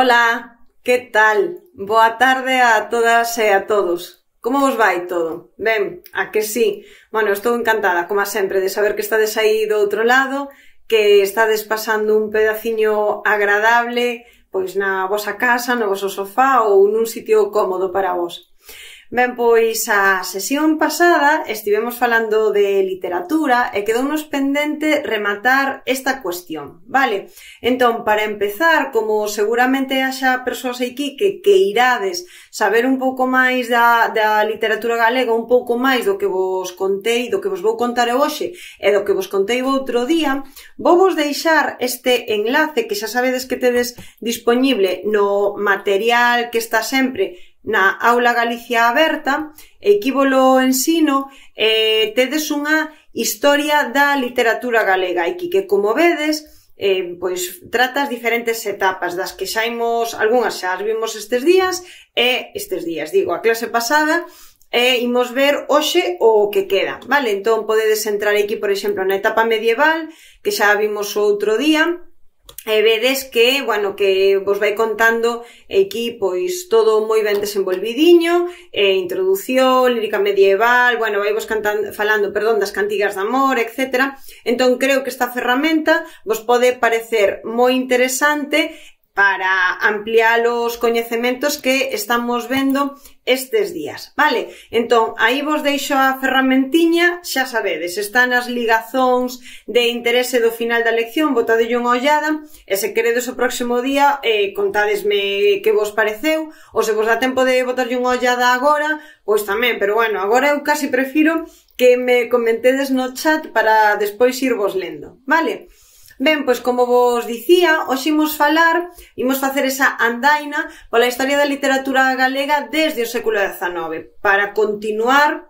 Ola, que tal? Boa tarde a todas e a todos. Como vos vai todo? Ben, a que sí? Bueno, estou encantada, como sempre, de saber que estades aí do outro lado, que estades pasando un pedaciño agradable, pois na vosa casa, no voso sofá ou nun sitio cómodo para vos. Ben, pois a sesión pasada estivemos falando de literatura e quedounos pendente rematar esta cuestión, vale? Entón, para empezar, como seguramente haxa persoas aquí que irades saber un pouco máis da literatura galega, un pouco máis do que vos contei, do que vos vou contar hoxe e do que vos contei outro día, vou vos deixar este enlace que xa sabedes que tedes disponible no material que está sempre na Aula Galicia Aberta, e aquí volo ensino, tedes unha historia da literatura galega, aquí que, como vedes, pois tratas diferentes etapas das que xa imos, algunhas xa as vimos estes días, digo, a clase pasada, e imos ver hoxe o que queda, vale? Entón podedes entrar aquí, por exemplo, na etapa medieval, que xa vimos outro día, e vedes que, bueno, que vos vai contando aquí, pois, todo moi ben desenvolvidiño, introdución, lírica medieval, bueno, vai vos falando das cantigas de amor, etc. Entón, creo que esta ferramenta vos pode parecer moi interesante para ampliar os coñecementos que estamos vendo estes días, vale? Entón, aí vos deixo a ferramentiña, xa sabedes, está nas ligazóns de interese do final da lección, botadelle unha ollada, e se queredes o próximo día, contádesme que vos pareceu, ou se vos dá tempo de botarlle unha ollada agora, pois tamén, pero bueno, agora eu casi prefiro que me comentedes no chat para despois irvos lendo, vale? Ben, pois como vos dicía, hoxe imos facer esa andaina pola historia da literatura galega desde o século XIX, para continuar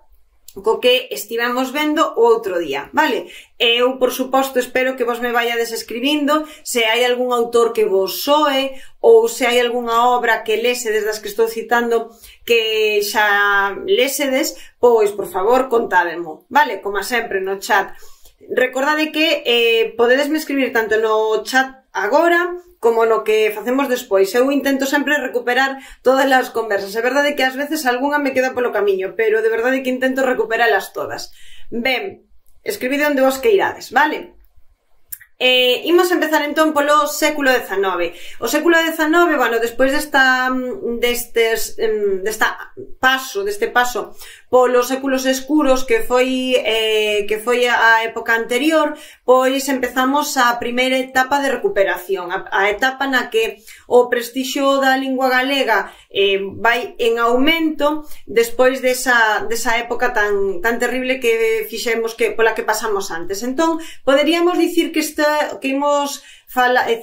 co que estivemos vendo o outro día, vale? Eu, por suposto, espero que vos me vayades escribindo se hai algún autor que vos soe ou se hai algunha obra que lesedes das que estou citando que xa lesedes, pois, por favor, contádemo, vale? Como sempre, no chat. Recordade que podedesme escribir tanto no chat agora como no que facemos despois. Eu intento sempre recuperar todas as conversas. É verdade que ás veces algunha me queda polo camiño, pero de verdade que intento recuperalas todas. Ben, escribide onde vos queirades, vale? Imos empezar entón polo século XIX. O século XIX, bueno, despois deste paso polos séculos escuros que foi a época anterior, pois empezamos a primeira etapa de recuperación, a etapa na que o prestixio da lingua galega vai en aumento despois desa época tan terrible que fixemos pola que pasamos antes. Entón, poderíamos dicir que imos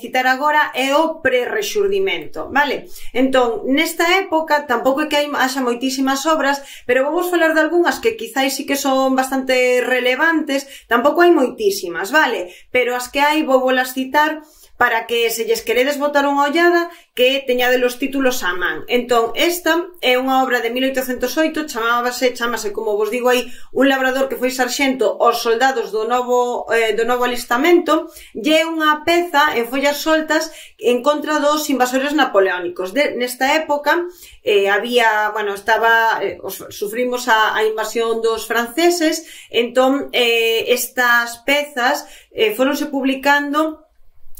citar agora é o prerrexurdimento, vale? Entón, nesta época, tampouco é que haxa moitísimas obras, pero vou vos falar de algunhas que quizáis sí que son bastante relevantes, tampouco hai moitísimas, vale? Pero as que hai vou volas citar para que se lles queredes botar unha ollada que teñade os títulos á man. Entón, esta é unha obra de 1808, chamase, como vos digo aí, Un labrador que foi sarxento aos soldados do novo alistamento, e é unha peza en follas soltas en contra dos invasores napoleónicos. Nesta época sufrimos a invasión dos franceses, entón estas pezas foronse publicando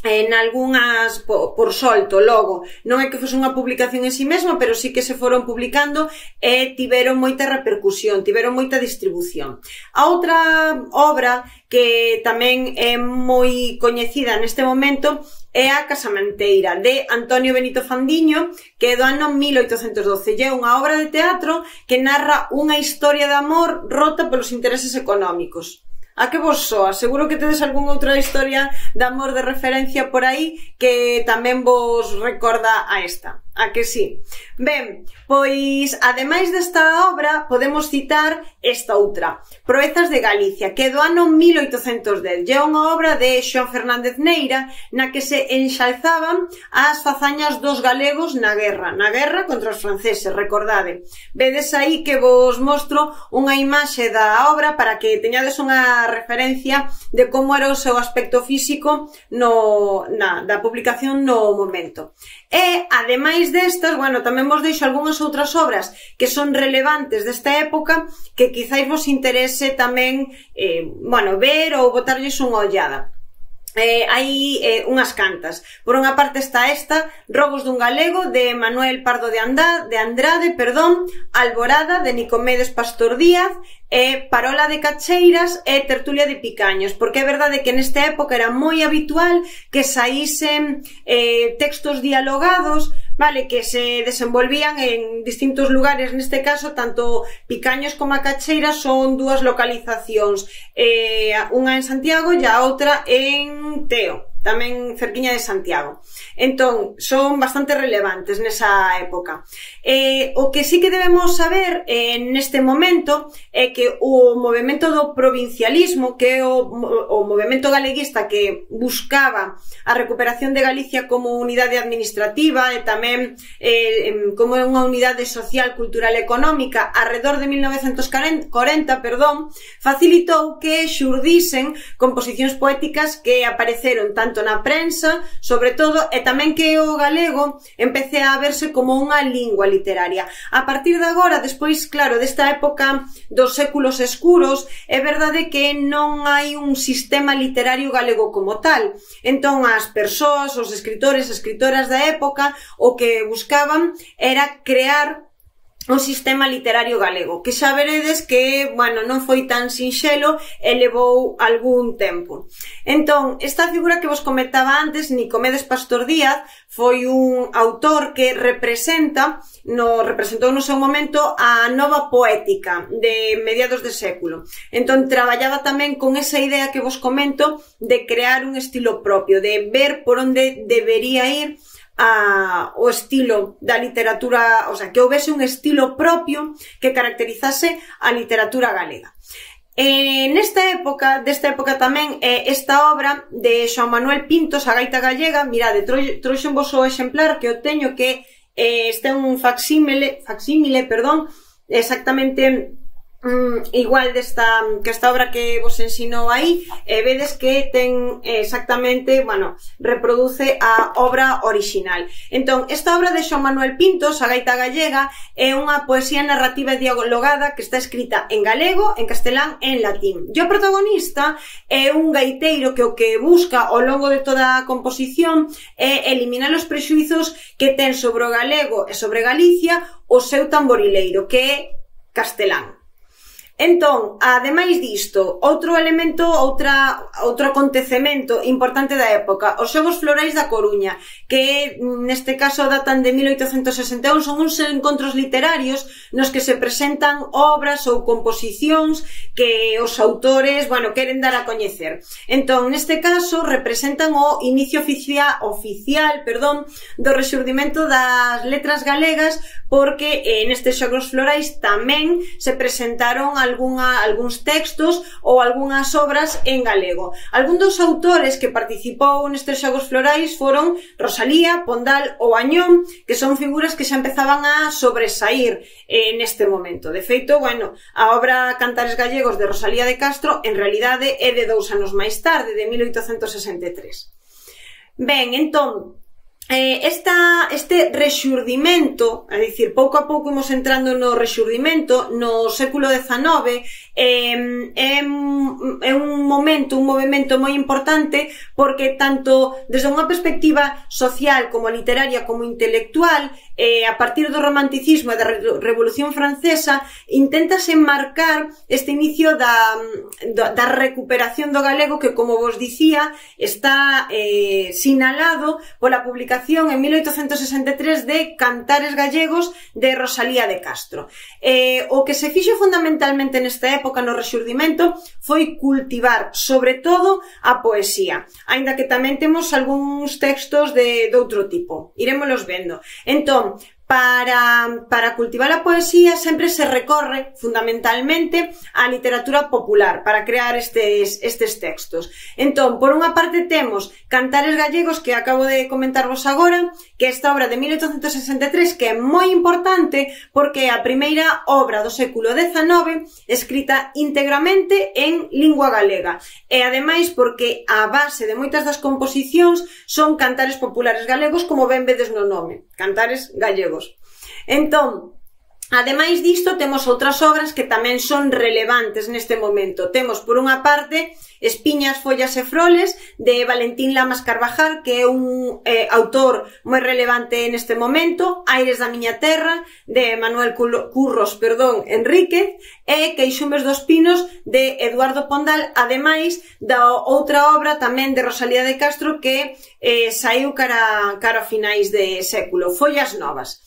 en algunhas por solto, logo non é que fose unha publicación en si mesma, pero sí que se foron publicando e tiveron moita repercusión, tiveron moita distribución. A outra obra que tamén é moi coñecida neste momento é A casamenteira, de Antonio Benito Fandiño, que é do ano 1812, e é unha obra de teatro que narra unha historia de amor rota polos intereses económicos. A que vos soa? Seguro que tedes algunha outra historia de amor de referencia por aí que tamén vos recorda a esta. A que sí? Ben, pois, ademais desta obra, podemos citar esta outra, Proezas de Galicia, que é do ano 1810. É unha obra de Xoán Fernández Neira, na que se enxalzaban as fazañas dos galegos na guerra contra os franceses, recordade. Vedes aí que vos mostro unha imaxe da obra para que teñades unha referencia de como era o seu aspecto físico da publicación no momento. E, ademais destas, bueno, tamén vos deixo algunhas outras obras que son relevantes desta época que quizáis vos interese tamén, ver ou botarlles unha ollada. Hai unhas cantas. Por unha parte está esta, Robos dun galego, de Manuel Pardo de Andrade, Alborada, de Nicomedes Pastor Díaz, Parola de Cacheiras e Tertulia de Picaños, porque é verdade que nesta época era moi habitual que saísen textos dialogados, vale, que se desenvolvían en distintos lugares. Neste caso, tanto Picaños como a Cacheiras son dúas localizacións, unha en Santiago e a outra en Teo, tamén cerquiña de Santiago. Entón, son bastante relevantes nesa época. O que sí que debemos saber neste momento é que o movemento do provincialismo, que é o movemento galeguista que buscaba a recuperación de Galicia como unidade administrativa e tamén como unha unidade social, cultural e económica arredor de 1940, facilitou que xurdisen composicións poéticas que apareceron tanto na prensa, sobre todo, e tamén que o galego empece a verse como unha lingua literaria. A partir de agora, despois, claro, desta época dos séculos escuros, é verdade que non hai un sistema literario galego como tal. Entón, as persoas, os escritores e escritoras da época, o que buscaban era crear o sistema literario galego, que xa veredes que, bueno, non foi tan sinxelo e levou algún tempo. Entón, esta figura que vos comentaba antes, Nicomedes Pastor Díaz, foi un autor que representou no seu momento a nova poética de mediados de século. Entón, traballaba tamén con esa idea que vos comento de crear un estilo propio, de ver por onde debería ir o estilo da literatura, o sea, que houvese un estilo propio que caracterizase a literatura galega. Desta época tamén esta obra de Xoán Manuel Pintos, A gaita gallega. Mirade, trouxenvos o exemplar que o teño, que este é un facsímile, exactamente igual que esta obra que vos ensinou aí, vedes que ten exactamente, bueno, reproduce a obra orixinal. Entón, esta obra de Xoán Manuel Pintos, A gaita gallega, é unha poesía narrativa dialogada que está escrita en galego, en castelán e en latín. E o protagonista é un gaiteiro que o que busca ao longo de toda a composición é eliminar os prexuizos que ten sobre o galego e sobre Galicia o seu tamborileiro, que é castelán. Entón, ademais disto, outro elemento, outro acontecemento importante da época, os Xogos Florais da Coruña, que neste caso datan de 1861, son uns encontros literarios nos que se presentan obras ou composicións que os autores, bueno, queren dar a coñecer. Entón, neste caso, representan o inicio oficial do rexurdimento das letras galegas, porque nestes Xogos Florais tamén se presentaron algúns textos ou algunhas obras en galego. Algún dos autores que participou nestes Xogos Florais foron Rosalía, Pondal ou Añón, que son figuras que xa empezaban a sobresaír neste momento. De feito, bueno, a obra Cantares gallegos de Rosalía de Castro en realidade é de 2 anos máis tarde, de 1863. Ben, entón, este rexurdimento, é dicir, pouco a pouco imos entrando no rexurdimento no século XIX, é un movimento moi importante, porque tanto desde unha perspectiva social como literaria como intelectual, a partir do romanticismo e da Revolución Francesa, inténtase enmarcar este inicio da recuperación do galego, que, como vos dicía, está sinalado pola publicación en 1863 de Cantares gallegos de Rosalía de Castro. O que se fixo fundamentalmente nesta época época, no Rexurdimento, foi cultivar, sobre todo, a poesía. Aínda que tamén temos algúns textos de outro tipo. Irémolos vendo. Entón, para cultivar a poesía sempre se recorre fundamentalmente á literatura popular para crear estes textos. Entón, por unha parte temos Cantares gallegos, que acabo de comentarvos agora, que é esta obra de 1863, que é moi importante porque é a primeira obra do século XIX escrita íntegramente en lingua galega. E ademais porque a base de moitas das composicións son cantares populares galegos, como ben vedes no nome, Cantares gallegos. Entón, ademais disto, temos outras obras que tamén son relevantes neste momento. Temos, por unha parte, Espiñas, follas e froles, de Valentín Lamas Carvajal, que é un autor moi relevante neste momento, Aires da miña terra, de Manuel Curros Enríquez, e Queixumes dos Pinos, de Eduardo Pondal, ademais da outra obra tamén de Rosalía de Castro, que saiu cara a finais de século, Follas Novas.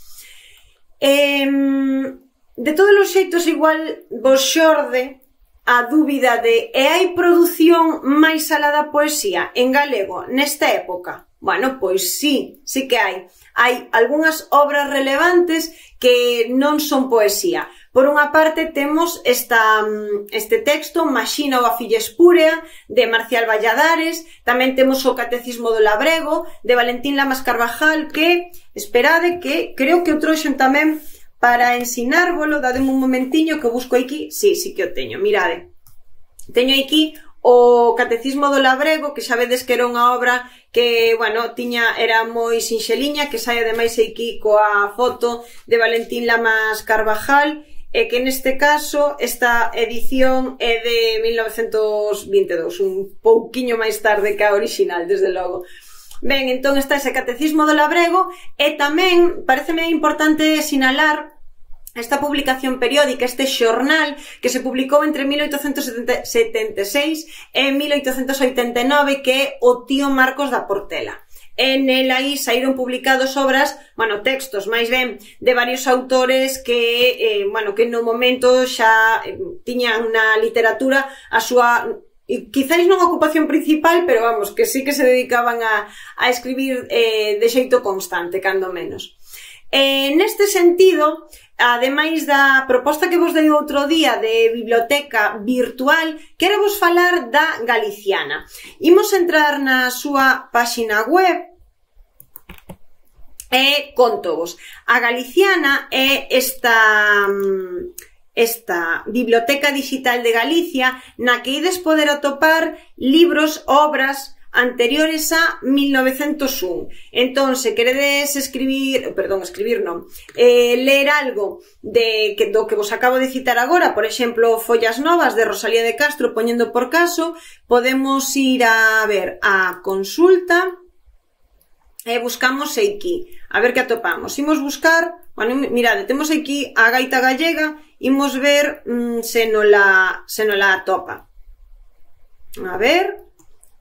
De todos os xeitos, igual vos xorde a dúbida de hai produción máis alá da poesía en galego nesta época? Bueno, pois sí que hai. Hai algunhas obras relevantes que non son poesía. Por unha parte temos este texto, Maxina ou a filla espúrea, de Marcial Valladares. Tamén temos o Catecismo do Labrego, de Valentín Lamas Carvajal, que, esperade, que creo que o trouxen tamén para ensinárvolo. Dademe un momentiño que busco aquí. Sí que o teño, mirade. Teño aquí o Catecismo do Labrego, que xa vedes que era unha obra que, bueno, era moi sinxeliña, que sai ademais aquí coa foto de Valentín Lamas Carvajal, e que neste caso esta edición é de 1922, un pouquiño máis tarde que a original, desde logo. Ben, entón está ese Catecismo do Labrego, e tamén pareceme importante sinalar esta publicación periódica, este xornal que se publicou entre 1876 e 1889, que é O tío Marcos da Portela. En el aí saíron publicados obras, textos máis ben de varios autores que, que no momento xa tiñan na literatura a súa, quizáis non a ocupación principal, pero vamos, que sí que se dedicaban a escribir de xeito constante, cando menos. Neste sentido, ademais da proposta que vos dei outro día de biblioteca virtual, quero vos falar da Galiciana. Imos entrar na súa páxina web e contovos. A Galiciana é esta biblioteca digital de Galicia na que ides poder atopar libros, obras anteriores a 1901. Entón, se queredes ler algo do que vos acabo de citar agora, por exemplo, Follas Novas de Rosalía de Castro, poñendo por caso, podemos ir a ver a consulta e buscamos aquí, a ver que atopamos. Imos buscar, mirade, temos aquí a gaita gallega, imos ver se nola atopa. A ver...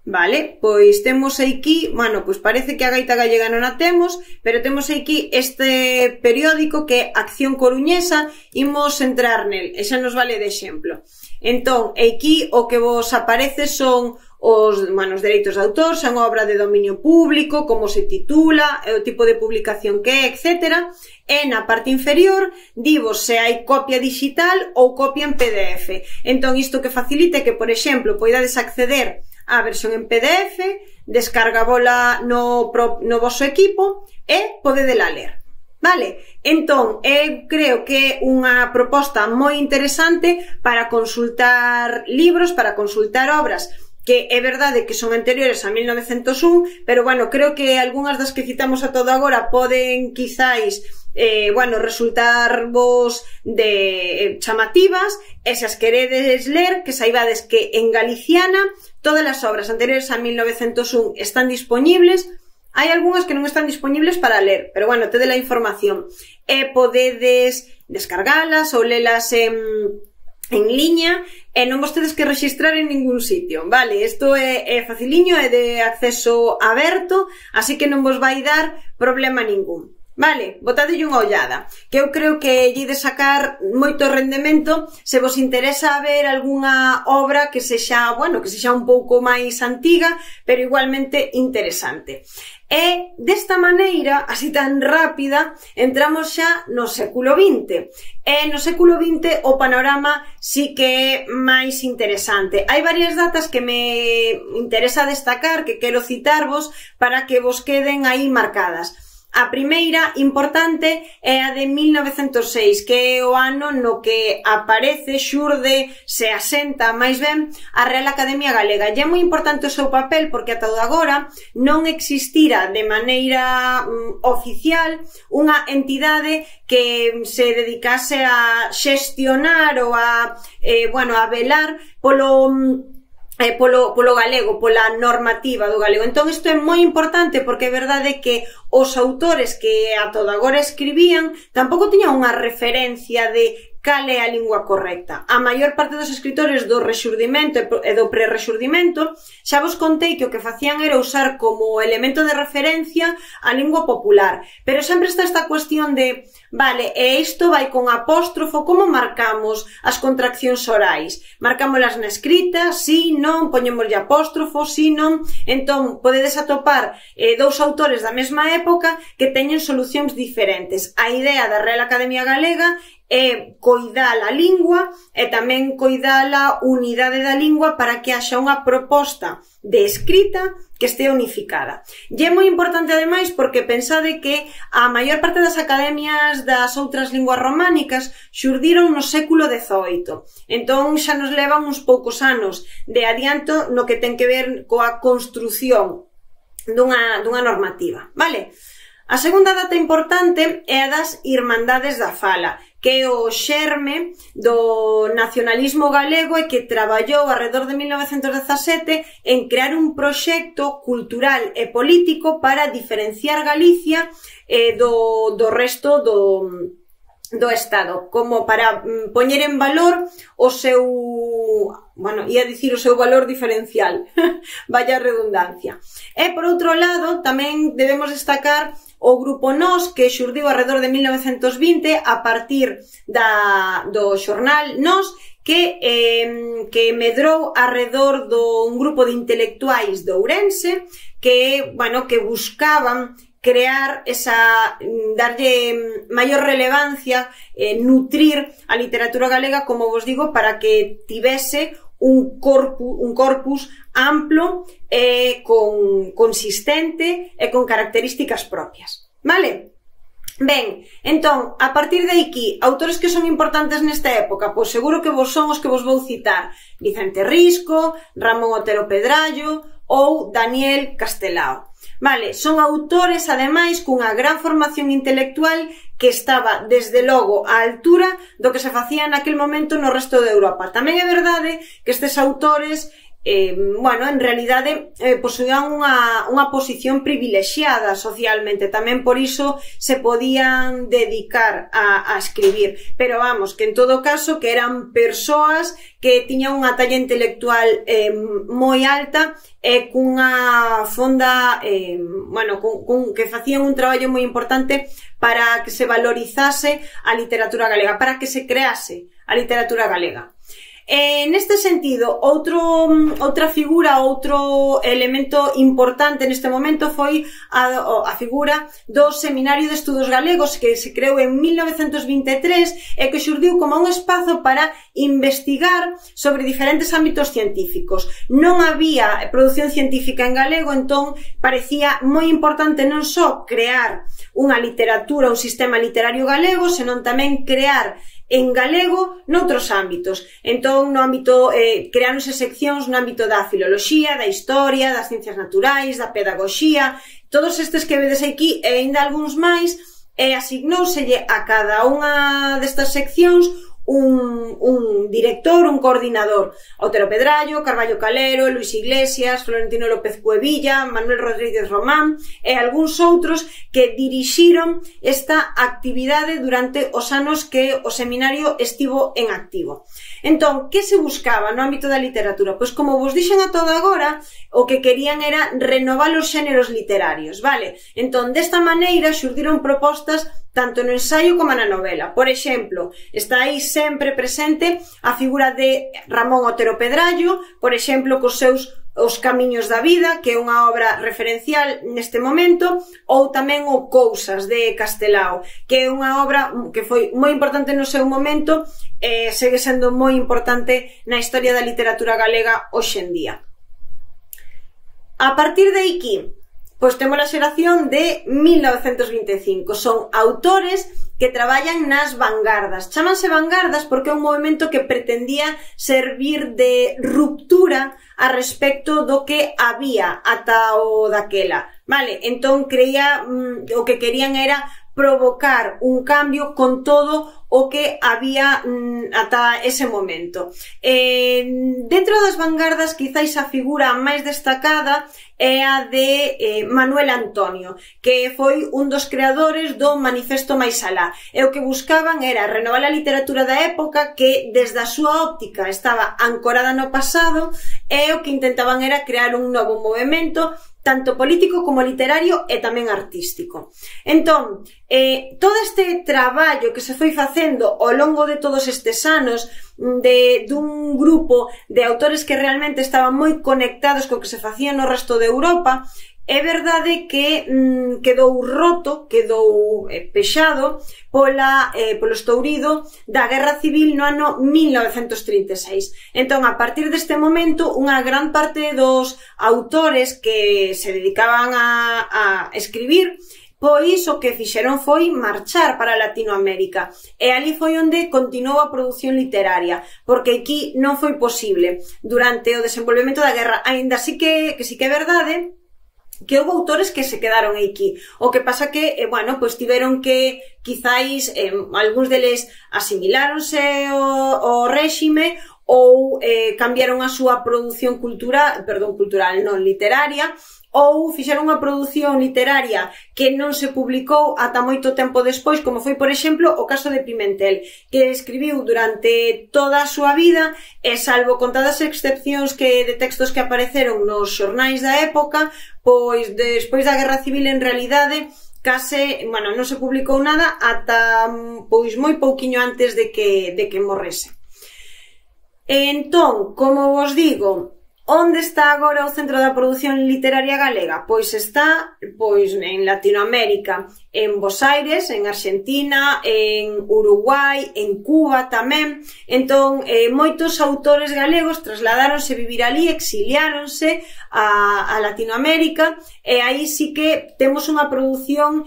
Vale, pois temos aquí, pois parece que a gaita gallega non a temos, pero temos aquí este periódico que é Acción Coruñesa, imos entrar nel, e xa nos vale de exemplo. Entón, aquí o que vos aparece son os dereitos de autor, son obra de dominio público, como se titula, o tipo de publicación que é, etc. E na parte inferior divos se hai copia digital ou copia en PDF. Entón, isto que facilita é que, por exemplo, poidades acceder a versión en PDF, descargábola no voso equipo e podedela ler. Vale? Entón, eu creo que é unha proposta moi interesante para consultar libros, para consultar obras que é verdade que son anteriores a 1901, pero, creo que algunhas das que citamos a todo agora poden, quizáis, resultarvos de chamativas, e se as queredes ler, que saibades que en Galiciana todas as obras anteriores a 1901 están disponibles. Hai algunhas que non están disponibles para ler, pero, tede a información. E podedes descargalas ou lelas en liña, e non vos tedes que rexistrar en ningún sitio, vale? Isto é faciliño, é de acceso aberto, así que non vos vai dar problema ningún. Vale, botadelle unha ollada, que eu creo que lle de sacar moito rendemento se vos interesa ver algunha obra que sexa, bueno, que sexa un pouco máis antiga, pero igualmente interesante. E desta maneira, así tan rápida, entramos xa no século XX. E no século XX o panorama sí que é máis interesante. Hai varias datas que me interesa destacar, que quero citarvos para que vos queden aí marcadas. A primeira importante é a de 1906, que é o ano no que aparece, xurde, se asenta máis ben a Real Academia Galega. E é moi importante o seu papel porque ata agora non existira de maneira oficial unha entidade que se dedicase a xestionar ou a velar polo galego, pola normativa do galego. Entón, isto é moi importante porque é verdade que os autores que ata agora escribían tampouco tiñan unha referencia de cal é a lingua correcta. A maior parte dos escritores do rexurdimento e do prerrexurdimento xa vos contei que o que facían era usar como elemento de referencia a lingua popular, pero sempre está esta cuestión de vale, e isto vai con apóstrofo, como marcamos as contraccións orais? Marcámolas na escrita, si, non, poñémoslle apóstrofo, si, non. Entón, podedes atopar dous autores da mesma época que teñen solucións diferentes. A idea da Real Academia Galega é coidar a lingua e tamén coidar a unidade da lingua para que haxa unha proposta de escrita que este unificada. E é moi importante ademais porque pensade que a maior parte das academias das outras linguas románicas xurdiron no século XVIII. Entón xa nos levan uns poucos anos de adianto no que ten que ver coa construción dunha normativa, vale? A segunda data importante é a das Irmandades da Fala, que é o xerme do nacionalismo galego e que traballou alrededor de 1917 en crear un proxecto cultural e político para diferenciar Galicia do resto do Estado, como para poñer en valor o seu, ia dicir o seu valor diferencial, vaya redundancia. E, por outro lado, tamén debemos destacar o grupo Nós, que xurdiu alrededor de 1920 a partir do xornal Nós, que medrou alrededor dun grupo de intelectuais de Ourense que buscaban crear darlle maior relevancia, nutrir a literatura galega, como vos digo, para que tivese un corpus amplo e consistente e con características propias. Vale? Ben, entón, a partir de aquí, autores que son importantes nesta época, pois seguro que vos son os que vos vou citar: Vicente Risco, Ramón Otero Pedrallo ou Daniel Castelao. Vale, son autores, ademais, cunha gran formación intelectual que estaba, desde logo, á altura do que se facía naquel momento no resto de Europa. Tamén é verdade que estes autores en realidade posuían unha posición privilexiada socialmente, tamén por iso se podían dedicar a escribir, pero vamos, que en todo caso que eran persoas que tiñan unha talla intelectual moi alta e cunha fonda que facían un traballo moi importante para que se valorizase a literatura galega, para que se crease a literatura galega. Neste sentido, outra figura, outro elemento importante neste momento foi a figura do Seminario de Estudos Galegos, que se creou en 1923 e que xurdiu como un espazo para investigar sobre diferentes ámbitos científicos. Non había produción científica en galego, entón parecía moi importante non só crear unha literatura, un sistema literario galego, senón tamén crear en galego noutros ámbitos. Entón, no ámbito, creáronse seccións no ámbito da filoloxía, da historia, das ciencias naturais, da pedagogía, todos estes que vedes aquí e ainda algúns máis, e asignóuselle a cada unha destas seccións un director, un coordinador. Otero Pedrallo, Carballo Calero, Luis Iglesias, Florentino López Cuevilla, Manuel Rodríguez Román e algúns outros que dirixiron esta actividade durante os anos que o seminario estivo en activo. Entón, que se buscaba no ámbito da literatura? Pois como vos dixen a todo agora, o que querían era renovar os xéneros literarios, vale? Entón, desta maneira xurdiron propostas tanto no ensaio como na novela. Por exemplo, está aí sempre presente a figura de Ramón Otero Pedrallo, por exemplo, cos seus Os camiños da vida, que é unha obra referencial neste momento, ou tamén o Cousas, de Castelao, que é unha obra que foi moi importante no seu momento e segue sendo moi importante na historia da literatura galega hoxe en día. A partir de aquí, pois temos a xeración de 1925. Son autores que traballan nas vanguardas. Chámanse vanguardas porque é un movimento que pretendía servir de ruptura a respecto do que había ata o daquela. Vale, entón creía o que querían era provocar un cambio con todo o que había ata ese momento. Dentro das vanguardas, quizáis a figura máis destacada é a de Manuel Antonio, que foi un dos creadores do Manifesto Máis Alá. E o que buscaban era renovar a literatura da época que, desde a súa óptica, estaba ancorada no pasado, e o que intentaban era crear un novo movimento tanto político como literario e tamén artístico. Entón, todo este traballo que se foi facendo ao longo de todos estes anos dun grupo de autores que realmente estaban moi conectados co que se facía no resto de Europa, é verdade que quedou roto, quedou pexado polo estourido da Guerra Civil no ano 1936. Entón, a partir deste momento, unha gran parte dos autores que se dedicaban a escribir, pois o que fixeron foi marchar para Latinoamérica, e ali foi onde continuou a produción literaria, porque aquí non foi posible durante o desenvolvemento da guerra, aínda así que sí que é verdade que houve autores que se quedaron aquí. O que pasa que, bueno, pois tiveron que, quizáis, algúns deles asimiláronse ao réxime ou cambiaron a súa produción cultural, non literaria, ou fixeron unha produción literaria que non se publicou ata moito tempo despois, como foi, por exemplo, o caso de Pimentel, que escribiu durante toda a súa vida e, salvo contadas excepcións de textos que apareceron nos xornais da época, pois despois da Guerra Civil, en realidade, case, bueno, non se publicou nada ata pois moi pouquiño antes de que morrese. Entón, como vos digo, onde está agora o centro da produción literaria galega? Pois está en Latinoamérica, en Bos Aires, en Argentina, en Uruguai, en Cuba tamén. Entón, moitos autores galegos trasladáronse a vivir ali, exiliáronse a Latinoamérica, e aí sí que temos unha produción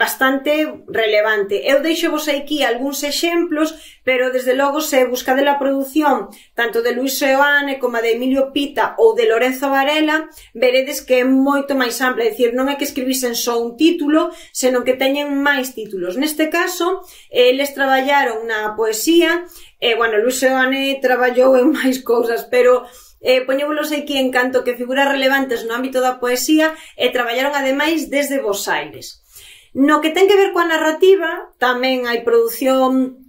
bastante relevante. Eu deixo-vos aquí algúns exemplos, pero desde logo se buscade a produción tanto de Luis Seoane como de Emilio Pita ou de Lorenzo Varela, veredes que é moito máis ampla, é dicir, non é que escribisen só un título, senón que teñen máis títulos. Neste caso, eles traballaron na poesía, bueno, Luis Seoane traballou en máis cousas, pero poñévolos aquí en canto que figuras relevantes no ámbito da poesía, e traballaron ademais desde Bos Aires. No que ten que ver coa narrativa, tamén hai produción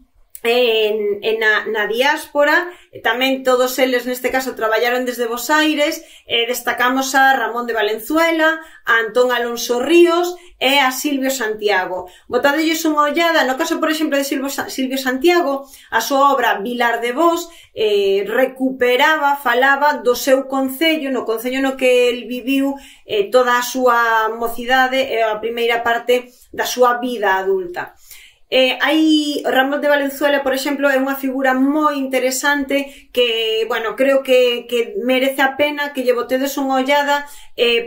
na diáspora, tamén todos eles neste caso traballaron desde Bos Aires, destacamos a Ramón de Valenzuela, a Antón Alonso Ríos e a Silvio Santiago. Botadelles unha ollada, no caso, por exemplo, de Silvio Santiago, a súa obra Vilar de Vos falaba do seu concello, no concello no que el viviu toda a súa mocidade e a primeira parte da súa vida adulta. Ramón de Valenzuela, por exemplo, é unha figura moi interesante que, bueno, creo que merece a pena que lle botedes unha ollada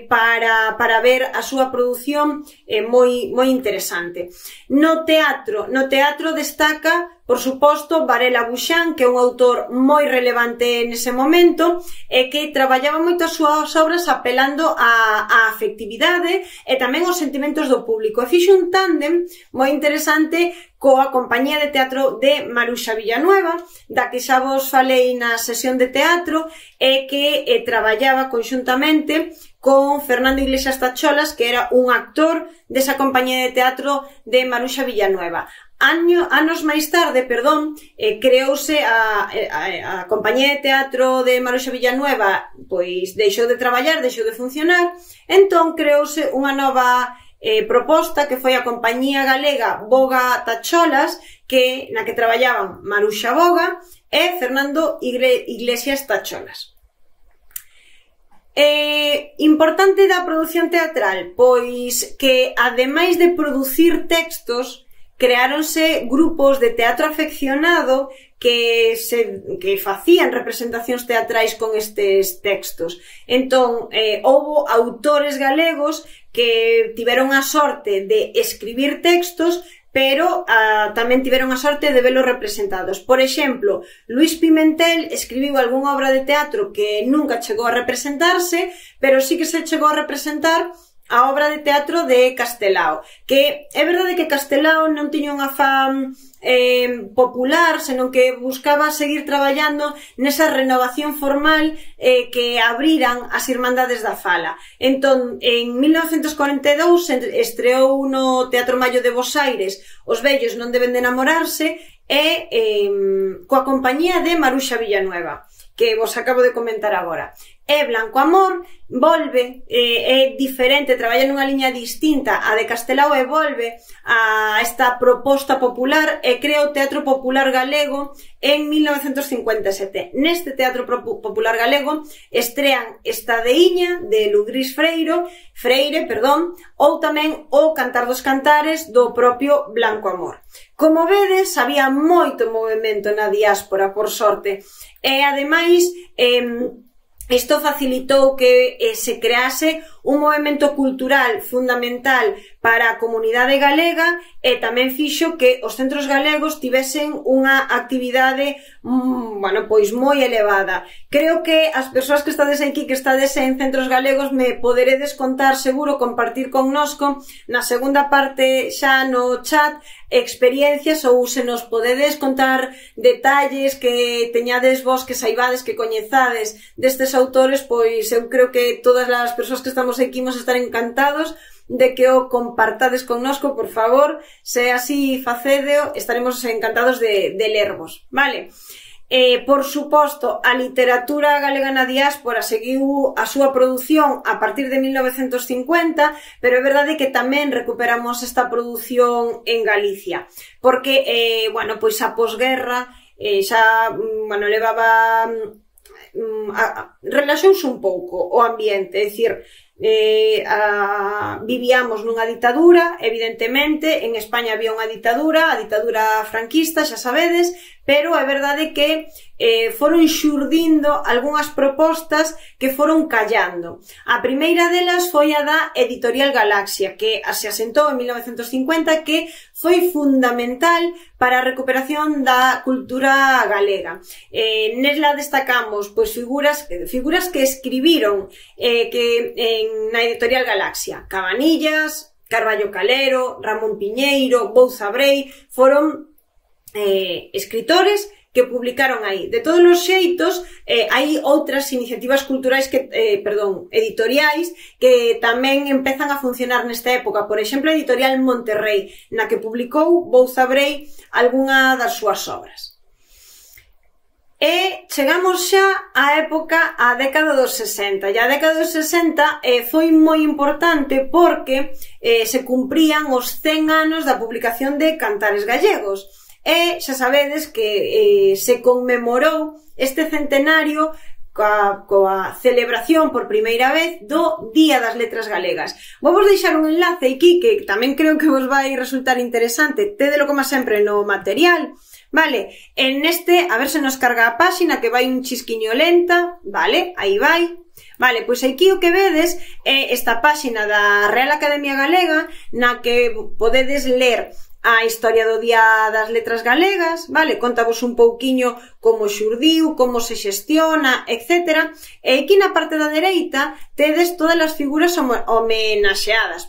para ver a súa produción moi interesante. No teatro destaca por suposto, Varela Buxán, que é un autor moi relevante nese momento e que traballaba moito as súas obras apelando á afectividade e tamén aos sentimentos do público. E fixo un tándem moi interesante coa compañía de teatro de Maruxa Villanueva, da que xa vos falei na sesión de teatro, e que traballaba conxuntamente con Fernando Iglesias Tacholas, que era un actor desa compañía de teatro de Maruxa Villanueva. Anos máis tarde, creouse a compañía de teatro de Maruxa Villanueva, pois deixou de traballar, deixou de funcionar, entón creouse unha nova proposta que foi a compañía galega Boga Tacholas, na que traballaban Maruxa Boga e Fernando Iglesias Tacholas. Importante da produción teatral, pois que ademais de producir textos, creáronse grupos de teatro afeccionado que facían representacións teatrais con estes textos. Entón, houbo autores galegos que tiveron a sorte de escribir textos, pero tamén tiveron a sorte de velos representados. Por exemplo, Luis Pimentel escribiu algunha obra de teatro que nunca chegou a representarse, pero sí que se chegou a representar a obra de teatro de Castelao, que é verdade que Castelao non tiña un afán popular, senón que buscaba seguir traballando nesa renovación formal que abriran as Irmandades da Fala. Entón, en 1942 estreou no Teatro Mallo de Bos Aires Os vellos non deben de enamorarse e coa compañía de Maruxa Villanueva, que vos acabo de comentar agora. E Blanco Amor volve, é diferente, traballa nunha liña distinta a de Castelao e volve a esta proposta popular e crea o Teatro Popular Galego en 1957. Neste Teatro Popular Galego estrean Estadeiña de Ludrís Freire, ou tamén o Cantar dos Cantares do propio Blanco Amor. Como vedes, había moito movimento na diáspora, por sorte, e ademais isto facilitou que se crease un movimento cultural fundamental para a comunidade galega e tamén fixo que os centros galegos tivesen unha actividade pois moi elevada. Creo que as persoas que estades aquí, que estades en centros galegos, me poderedes contar, seguro, compartir connosco na segunda parte xa no chat experiencias, ou se nos podedes contar detalles que teñades vos, que saibades, que coñezades destes autores, pois eu creo que todas as persoas que estamos aquí vamos estar encantados de que o compartades connosco, por favor. Se así facedeo, estaremos encantados de lervos, vale? Por suposto, a literatura galega na diáspora seguiu a súa produción a partir de 1950, pero é verdade que tamén recuperamos esta produción en Galicia, porque, pois a posguerra xa, levaba... relaxouse un pouco o ambiente, é dicir, vivíamos nunha ditadura, evidentemente, en España había unha ditadura, a ditadura franquista, xa sabedes, pero é verdade que foron xurdindo algunhas propostas que foron callando. A primeira delas foi a da Editorial Galaxia, que se asentou en 1950, que foi fundamental para a recuperación da cultura galega. Nesla destacamos pois figuras que escribiron na Editorial Galaxia. Cabanillas, Carballo Calero, Ramón Piñeiro, Bouza Brei, foron escritores que publicaron aí. De todos os xeitos, hai outras iniciativas culturais editoriais que tamén empezan a funcionar nesta época. Por exemplo, a Editorial Monterrey, na que publicou Bouza Brei algunha das súas obras. E chegamos xa á época, á década dos 60. E a década dos 60 foi moi importante porque se cumprían os 100 anos da publicación de Cantares Gallegos. E xa sabedes que se conmemorou este centenario coa celebración por primeira vez do Día das Letras Galegas. Vou deixar un enlace aquí que tamén creo que vos vai resultar interesante. Tédelo como sempre no material, vale? En este, a ver se nos carga a páxina, que vai un chisquiño lenta, vale? Aí vai. Vale, pois aquí o que vedes é esta páxina da Real Academia Galega, na que podedes ler a historia do Día das Letras Galegas, vale? Contavos un pouquiño como xurdiu, como se xestiona, etc. E aquí na parte da dereita tedes todas as figuras homenaxeadas,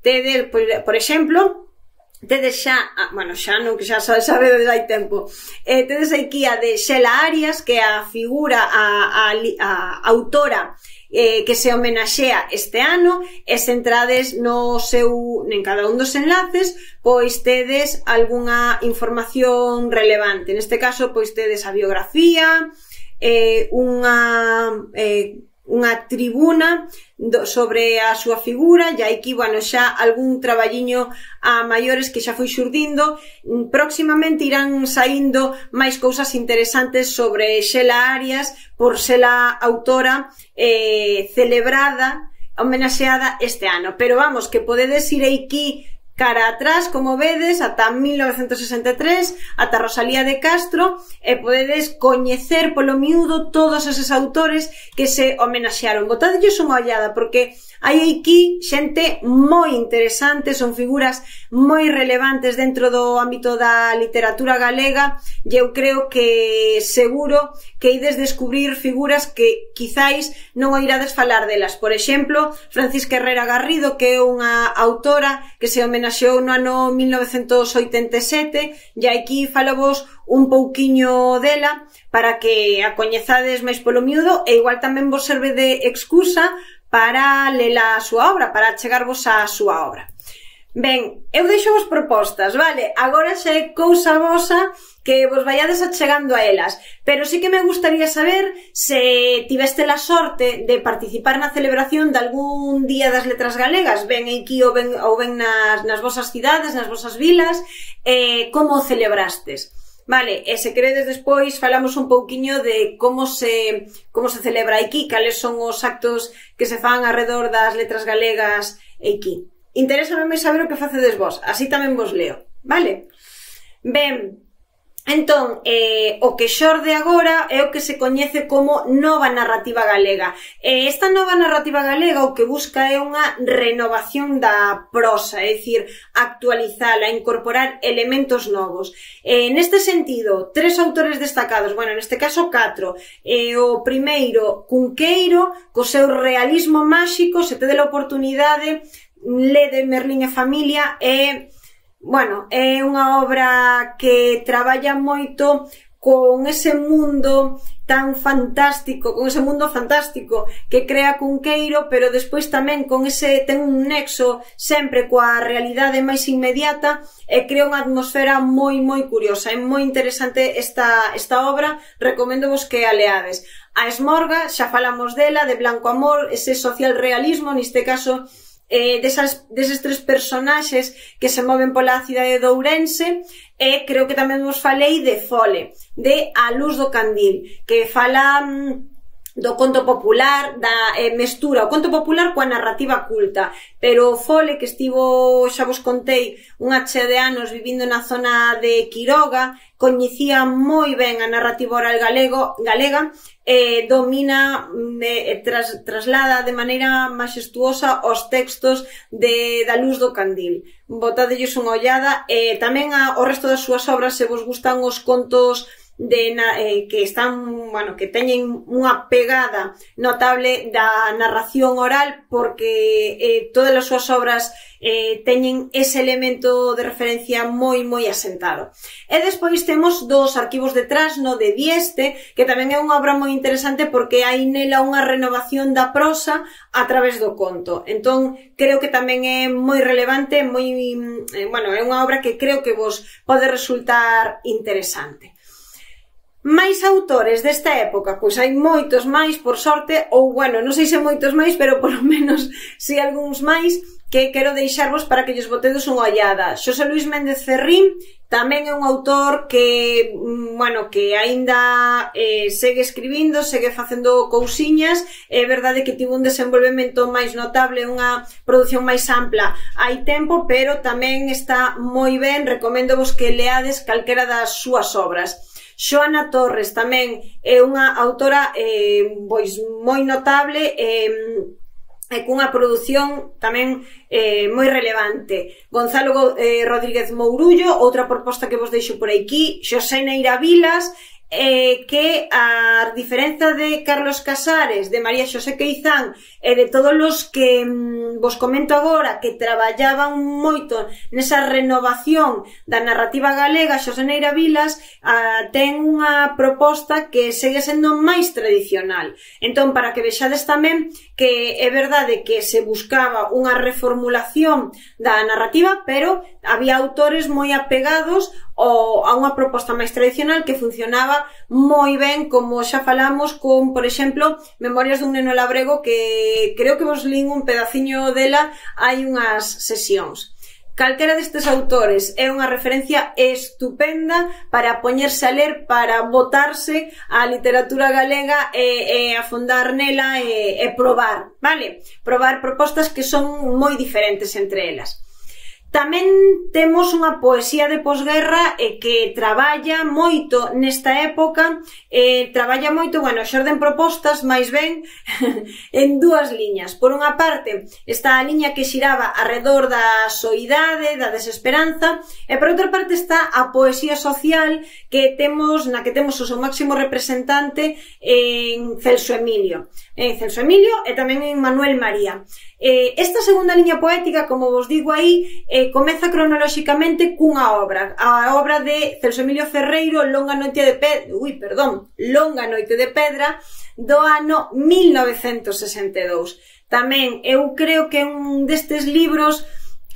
tedes, por exemplo, tedes xa, bueno, xa non, que xa sabe desde hai tempo, tedes aquí a de Xela Arias, que é a figura, a autora que se homenaxea este ano, e se entrades no seu, en cada un dos enlaces, pois tedes algunha información relevante. Neste caso, pois tedes a biografía, unha tribuna sobre a súa figura, e aquí, bueno, xa algún traballiño a maiores que xa foi xurdindo. Próximamente irán saindo máis cousas interesantes sobre Xela Arias, por ser a autora celebrada, homenaxeada este ano. Pero vamos, que podedes ir aquí cara atrás, como vedes, ata 1963, ata Rosalía de Castro, e podedes coñecer polo miúdo todos eses autores que se homenaxearon. Botadelles unha ollada, porque hai aquí xente moi interesante, son figuras moi relevantes dentro do ámbito da literatura galega, e eu creo que seguro que ides descubrir figuras que quizáis non oirades falar delas. Por exemplo, Francisca Herrera Garrido, que é unha autora que se homenaxeou no ano 1987, e aquí falavos un pouquiño dela para que a coñezades máis polo miúdo, e igual tamén vos serve de excusa para lela a súa obra, para chegarvos á súa obra. Ben, eu deixo vos propostas, vale? Agora xa é cousa vosa que vos vayades achegando a elas, pero sí que me gustaría saber se tiveste a sorte de participar na celebración de algún Día das Letras Galegas, ben aquí ou ben nas vosas cidades, nas vosas vilas, como o celebrastes. Vale, e se queredes despois falamos un pouquiño de como se celebra aquí, cales son os actos que se fan alrededor das letras galegas aquí. Interésame saber o que facedes vos, así tamén vos leo, vale? Ben, entón, o que xorde agora é o que se coñece como nova narrativa galega. Esta nova narrativa galega o que busca é unha renovación da prosa, é dicir, actualizala, incorporar elementos novos. Neste sentido, 3 autores destacados, bueno, neste caso 4. O primeiro, Cunqueiro, co seu realismo máxico, se tede a oportunidade, lede Merlín e familia, bueno, é unha obra que traballa moito con ese mundo tan fantástico, con ese mundo fantástico que crea Cunqueiro, pero despois tamén ten un nexo sempre coa realidade máis inmediata e crea unha atmosfera moi curiosa. É moi interesante esta obra, recoméndovos que a leades. A Esmorga, xa falamos dela, de Blanco Amor, ese social realismo, neste caso deses 3 personaxes que se moven pola cidade de Ourense, e creo que tamén vos falei de Fole, de A Luz do Candil, que fala do conto popular, da mestura o conto popular coa narrativa culta, pero Fole, que estivo, xa vos contei, unha chea de anos vivindo na zona de Quiroga, coñecía moi ben a narrativa oral galega, domina, traslada de maneira maxestuosa os textos da Luz do Candil. Botadelles unha ollada, tamén ao resto das súas obras, se vos gustan os contos que están, bueno, que teñen unha pegada notable da narración oral, porque todas as súas obras teñen ese elemento de referencia moi asentado. E despois temos dos arquivos de Trasno de Dieste, que tamén é unha obra moi interesante porque hai nela unha renovación da prosa a través do conto. Entón, creo que tamén é moi relevante, bueno, é unha obra que creo que vos pode resultar interesante. Máis autores desta época, pois hai moitos máis, por sorte, ou, bueno, non sei se moitos máis, pero polo menos si algúns máis, que quero deixarvos para que lles botedes unha ollada. Xosé Luís Méndez Ferrín tamén é un autor que, bueno, que aínda segue escribindo, segue facendo cousiñas. É verdade que tivo un desenvolvemento máis notable, unha produción máis ampla hai tempo, pero tamén está moi ben, recoméndovos que leades calquera das súas obras. Xoana Torres tamén é unha autora pois moi notable, e cunha produción tamén moi relevante. Gonzalo Rodríguez Mourullo, outra proposta que vos deixo por aquí, Xosé Neira Vilas, que a diferenza de Carlos Casares, de María Xosé Queizán e de todos os que vos comento agora que traballaban moito nesa renovación da narrativa galega, Xosé Neira Vilas ten unha proposta que segue sendo máis tradicional. Entón, para que vexades tamén que é verdade que se buscaba unha reformulación da narrativa, pero había autores moi apegados a unha proposta máis tradicional que funcionaba moi ben, como xa falamos con, por exemplo, Memorias dun neno labrego, que creo que vos lín un pedaciño dela hai unhas sesións. Calquera destes autores é unha referencia estupenda para poñerse a ler, para botarse á literatura galega e afondar nela e probar, vale? Probar propostas que son moi diferentes entre elas. Tamén temos unha poesía de posguerra que traballa moito nesta época, traballa moito, bueno, xorden propostas, máis ben, en dúas liñas. Por unha parte, está a liña que xiraba arredor da soidade, da desesperanza, e por outra parte está a poesía social que temos, na que temos o seu máximo representante en Celso Emilio. Celso Emilio e tamén en Manuel María. Esta segunda liña poética, como vos digo aí, comeza cronolóxicamente cunha obra, a obra de Celso Emilio Ferreiro, Longa noite de Pedra, do ano 1962. Tamén eu creo que é un destes libros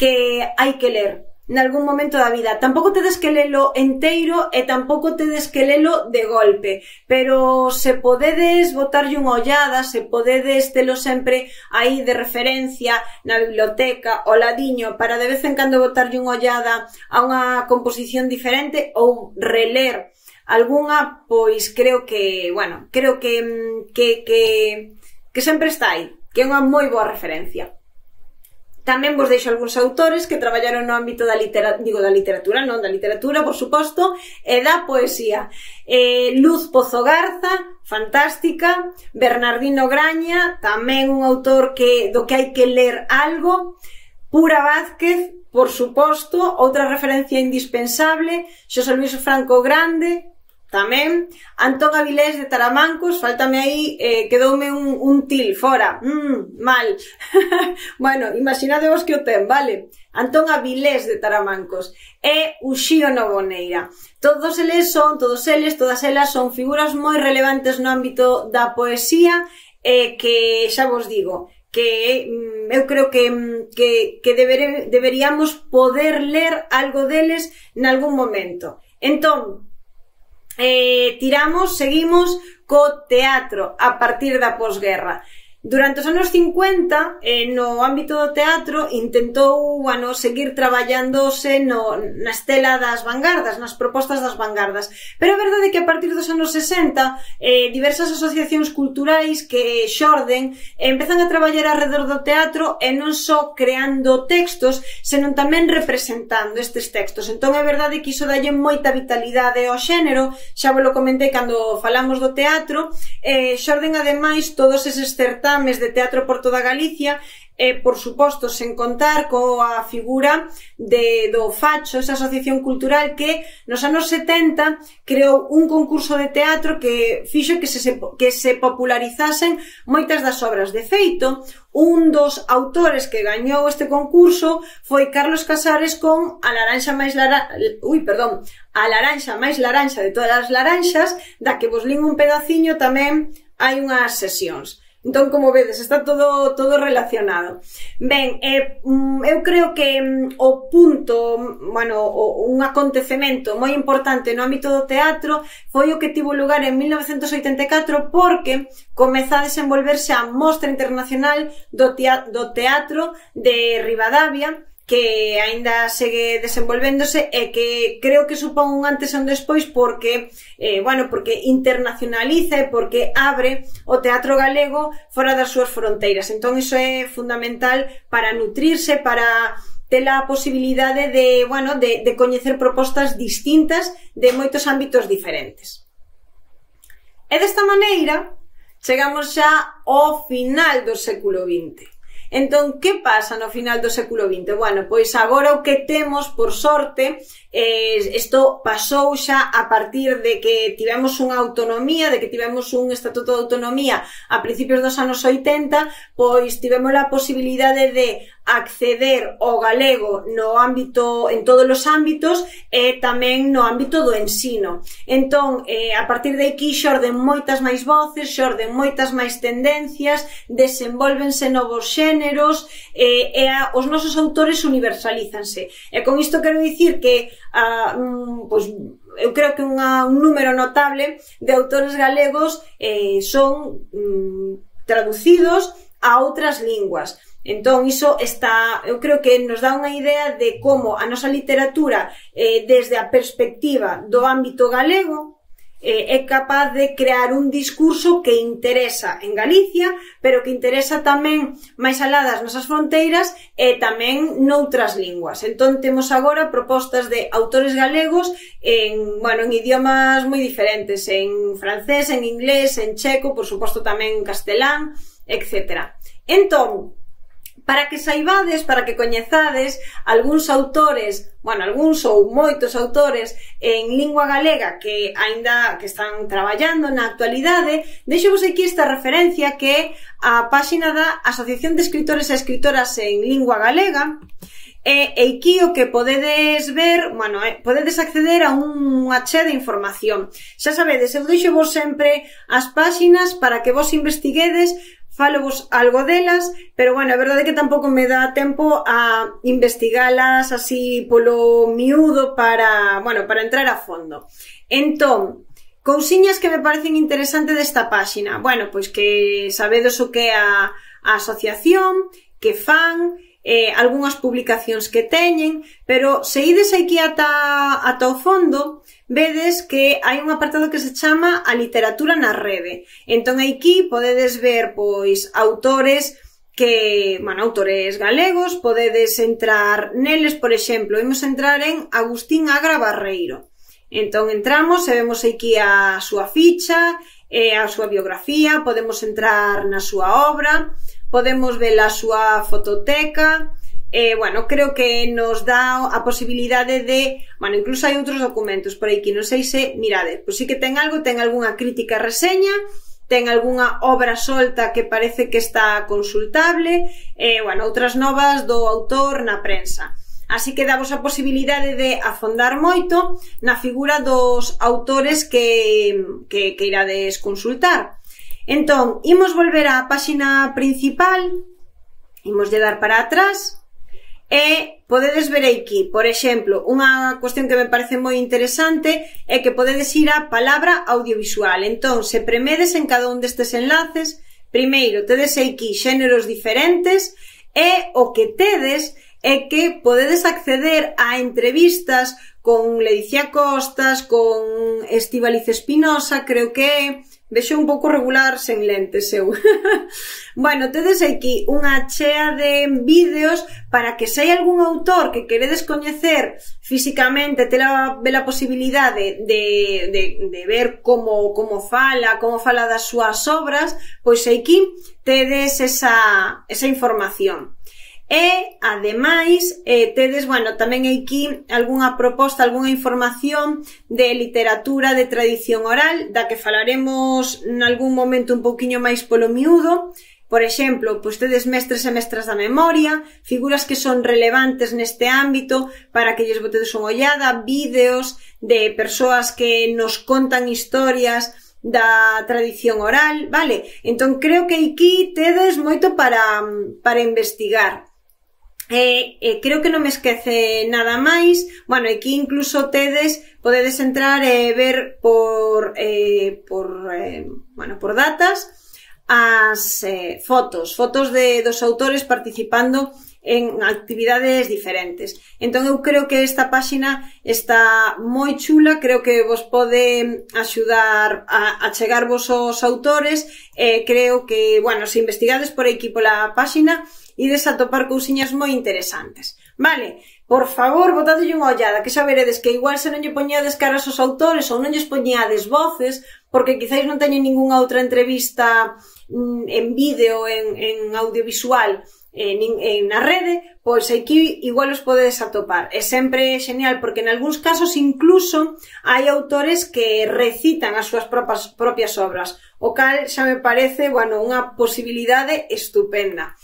que hai que ler nalgún momento da vida. Tampouco tedes que lelo enteiro e tampouco tedes que lelo de golpe, pero se podedes botarlle unha ollada, se podedes telo sempre aí de referencia na biblioteca ao ladiño para de vez en cando botarlle unha ollada a unha composición diferente ou reler algunha, pois creo que, bueno, creo que sempre está aí, que é unha moi boa referencia. Tamén vos deixo algúns autores que traballaron no ámbito da literatura, non da literatura, por suposto, e da poesía. Luz Pozo Garza, fantástica. Bernardino Graña, tamén un autor do que hai que ler algo. Pura Vázquez, por suposto, outra referencia indispensable. Xosé Luis Franco Grande, tamén. Antón Avilés de Taramancos, faltame aí, quedoume un til fora, mal. Bueno, imaginadevos que o ten, vale? Antón Avilés de Taramancos e Uxío Novoneira. Todas elas son figuras moi relevantes no ámbito da poesía e que, xa vos digo, que eu creo que deberíamos poder ler algo deles nalgún momento. Entón, seguimos co teatro a partir da posguerra. Durante os anos 50, no ámbito do teatro, intentou seguir traballándose na estela das vanguardas, nas propostas das vanguardas. Pero é verdade que a partir dos anos 60, diversas asociacións culturais que xorden empezan a traballar arredor do teatro e non só creando textos, senón tamén representando estes textos. Entón é verdade que iso dalle moita vitalidade ao xénero, xa vos lo comentei cando falamos do teatro, xorden ademais todos eses certames de teatro por toda Galicia e, por suposto, sen contar coa figura do Facho, esa asociación cultural que nos anos 70 creou un concurso de teatro que fixo que se popularizasen moitas das obras. De feito, un dos autores que gañou este concurso foi Carlos Casares con A laranxa máis laranxa de todas as laranxas, da que vos lín un pedaciño tamén hai unhas sesións. Entón, como vedes, está todo relacionado. Ben, eu creo que o punto, un acontecemento moi importante no ámbito do teatro foi o que tivo lugar en 1984 porque comeza a desenvolverse a Mostra Internacional do Teatro de Ribadavia, que aínda segue desenvolvéndose e que creo que supón un antes e un despois porque internacionaliza e porque abre o teatro galego fora das súas fronteiras. Entón iso é fundamental para nutrirse, para ter a posibilidade de coñecer propostas distintas de moitos ámbitos diferentes. E desta maneira chegamos xa ao final do século XX. Entón, que pasa no final do século XX? Bueno, pois agora o que temos, por sorte, isto pasou xa a partir de que tivemos unha autonomía, de que tivemos un estatuto de autonomía a principios dos anos 80, pois tivemos a posibilidade de acceder ao galego no ámbito, en todos os ámbitos e tamén no ámbito do ensino. Entón, a partir de aquí xorden moitas máis voces, xorden moitas máis tendencias, desenvólvense novos xéneros e os nosos autores universalízanse. E con isto quero dicir que pois, eu creo que un número notable de autores galegos son traducidos a outras linguas. Entón, iso está, eu creo que nos dá unha idea de como a nosa literatura, desde a perspectiva do ámbito galego, é capaz de crear un discurso que interesa en Galicia, pero que interesa tamén máis alá das nosas fronteiras e tamén noutras linguas. Entón, temos agora propostas de autores galegos en idiomas moi diferentes, en francés, en inglés, en checo, por suposto tamén en castelán, etc. Entón, para que saibades, para que coñezades algúns autores, algúns ou moitos autores en lingua galega que aínda que están traballando na actualidade, deixo-vos aquí esta referencia que é a páxina da Asociación de Escritores e Escritoras en Lingua Galega. E aquí o que podedes ver, podedes acceder a unha chea de información. Xa sabedes, eu deixo-vos sempre as páxinas para que vos investiguedes, falo-vos algo delas, pero a verdade é que tampouco me dá tempo a investigalas así polo miúdo para entrar a fondo. Entón, cousiñas que me parecen interesantes desta páxina. Pois que sabedes o que é a asociación, que fan, algunhas publicacións que teñen, pero se ides aquí ata o fondo, vedes que hai un apartado que se chama a literatura na rede. Entón aquí podedes ver pois autores autores galegos, podedes entrar neles, por exemplo, imos entrar en Agustín Agra Barreiro. Entón entramos e vemos aquí a súa ficha, a súa biografía, podemos entrar na súa obra, podemos ver a súa fototeca. Creo que nos dá a posibilidade de... incluso hai outros documentos por aquí, non sei se... Mirade, pois sí que ten algunha crítica reseña, ten algunha obra solta que parece que está consultable, outras novas do autor na prensa. Así que damos a posibilidade de afondar moito na figura dos autores que irades consultar. Entón, imos volver á páxina principal, imos lle dar para atrás, e podedes ver aquí, por exemplo, unha cuestión que me parece moi interesante é que podedes ir á palabra audiovisual. Entón, se premedes en cada un destes enlaces, primeiro tedes aquí xéneros diferentes e o que tedes é que podedes acceder a entrevistas con Ledicia Costas, con Estíbaliz Espinosa, creo que é... Vexo un pouco regular sen lentes eu. Tedes aquí unha chea de vídeos para que se hai algún autor que queredes coñecer físicamente, ter a posibilidade de ver como fala das súas obras, pois aquí tedes esa información. E, ademais, tedes, tamén aquí algunha proposta, algunha información de literatura de tradición oral, da que falaremos nalgún momento un pouquiño máis polo miúdo. Por exemplo, pois tedes mestres e mestras da memoria, figuras que son relevantes neste ámbito para que lles botedes unha ollada, vídeos de persoas que nos contan historias da tradición oral, vale? Entón, creo que aquí tedes moito para investigar. Creo que non me esquece nada máis. Aquí incluso podedes entrar e ver por datas as fotos dos autores participando en actividades diferentes. Entón eu creo que esta páxina está moi chula, creo que vos pode axudar a chegarvos aos autores, creo que, se investigades por aquí pola páxina, ides a topar cousiñas moi interesantes. Vale, por favor, botadelle unha ollada, que xa veredes que igual se non lle poñades caras aos autores ou non lles poñades voces, porque quizáis non teñen ningunha outra entrevista en vídeo, en audiovisual, na rede, pois aquí igual os podedes atopar. É sempre genial porque en algúns casos incluso hai autores que recitan as súas propias obras, o cal xa me parece, bueno, unha posibilidade estupenda.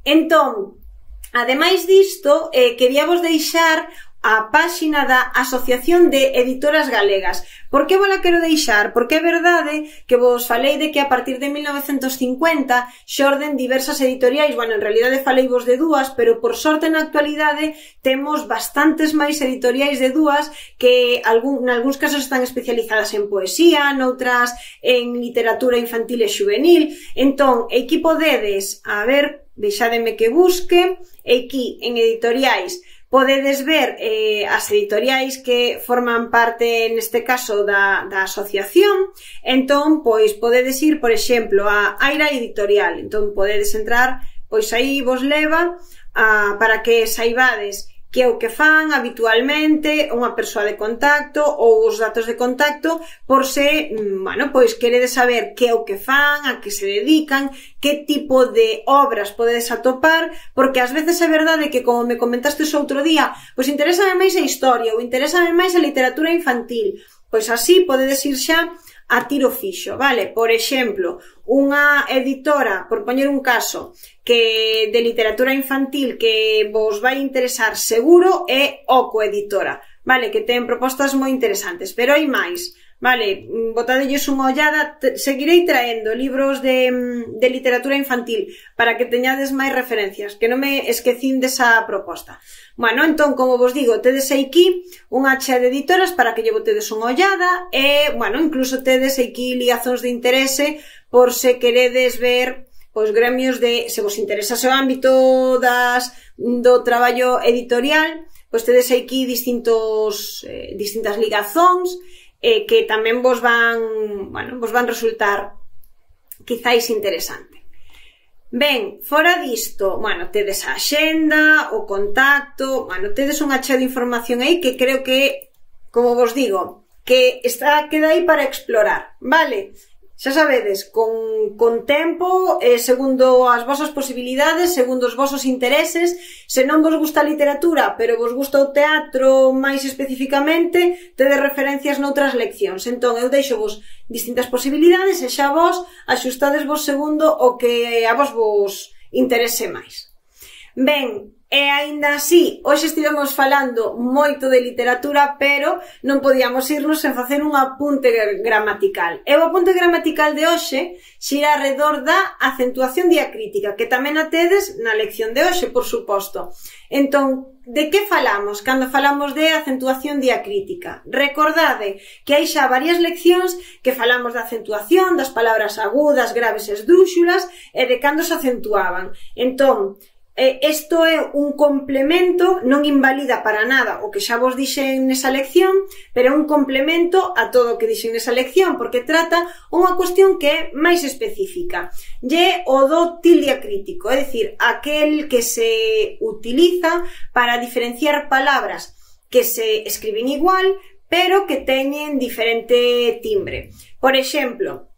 Entón, ademais disto, queríavos deixar a páxina da Asociación de Editoras Galegas. Por que vos la quero deixar? Porque é verdade que vos falei de que a partir de 1950 xorden diversas editoriais, bueno, en realidade faleivos de dúas, pero por sorte na actualidade temos bastantes máis editoriais de dúas que nalgúns casos están especializadas en poesía, noutras en literatura infantil e xuvenil. Entón, aquí podedes, a ver, deixádeme que busque, aquí en editoriais, podedes ver as editoriais que forman parte, neste caso, da asociación. Entón, pois, podedes ir, por exemplo, a Aira Editorial. Entón, podedes entrar, pois aí vos leva para que saibades que é o que fan habitualmente, unha persoa de contacto ou os datos de contacto, por se, bueno, pois queredes saber que é o que fan, a que se dedican, que tipo de obras podedes atopar, porque ás veces é verdade que, como me comentastes outro día, pois interésame máis a historia ou interésame máis a literatura infantil, pois así podedes ir xa a tiro fixo, vale? Por exemplo, unha editora, por poñer un caso, que de literatura infantil que vos vai interesar seguro é Oco Editora, vale? Que ten propostas moi interesantes, pero hai máis, vale? Botadelles unha ollada, seguirei traendo libros de literatura infantil para que teñades máis referencias, que non me esquecín desa proposta. Bueno, entón, como vos digo, tedes aquí unha chea de editoras para que lle botedes unha ollada e, bueno, incluso tedes aquí ligazóns de interese por se queredes ver pois gremios de, se vos interesa o ámbito do traballo editorial, pois tedes aquí distintas ligazóns que tamén vos van resultar quizáis interesante. Ben, fora disto, bueno, tedes a axenda, o contacto, bueno, tedes unha chea de información aí que creo que, como vos digo, que queda aí para explorar, vale? Xa sabedes, con tempo, segundo as vosas posibilidades, segundo os vosos intereses. Se non vos gusta a literatura, pero vos gusta o teatro máis especificamente, tedes referencias noutras leccións. Entón, eu deixo vos distintas posibilidades e xa vos axustades vos segundo o que a vos interese máis. Ben, e aínda así, hoxe estivemos falando moito de literatura, pero non podíamos irnos sen facer un apunte gramatical. E o apunte gramatical de hoxe xira alrededor da acentuación diacrítica, que tamén a tedes na lección de hoxe, por suposto. Entón, de que falamos cando falamos de acentuación diacrítica? Recordade que hai xa varias leccións que falamos da acentuación, das palabras agudas, graves e esdrúxulas, e de cando se acentuaban. Entón, isto é un complemento, non invalida para nada o que xa vos dixen nesa lección, pero é un complemento a todo o que dixen nesa lección, porque trata unha cuestión que é máis específica. E o do tilde acrítico, é dicir, aquel que se utiliza para diferenciar palabras que se escriben igual, pero que teñen diferente timbre. Por exemplo,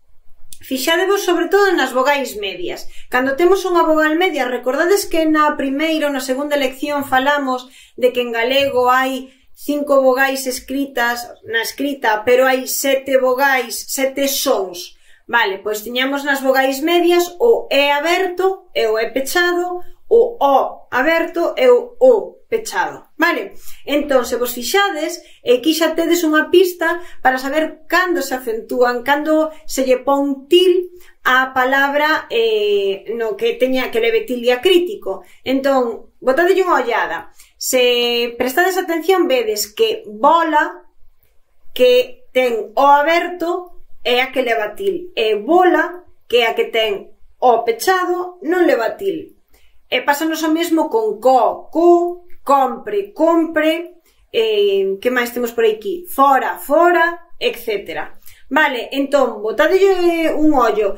fixadevos sobre todo nas vogais medias. Cando temos unha vogal media, recordades que na primeira ou na segunda lección falamos de que en galego hai 5 vogais escritas na escrita, pero hai 7 vogais, 7 sons. Vale, pois tiñamos nas vogais medias o E aberto e o E pechado, o O aberto e o O pechado, vale? Entón, se vos fixades, aquí xa tedes unha pista para saber cando se acentúan, cando se lle pon til a palabra no que leve tilde acrítico. Entón, botadelle unha ollada. Se prestades atención, vedes que bola, que ten o aberto, é a que leva til, e bola, que é a que ten o pechado, non leva til. E pásanos o mesmo con cu, compre, que máis temos por aquí? Fora, etc. Vale, entón, botadelle un ollo.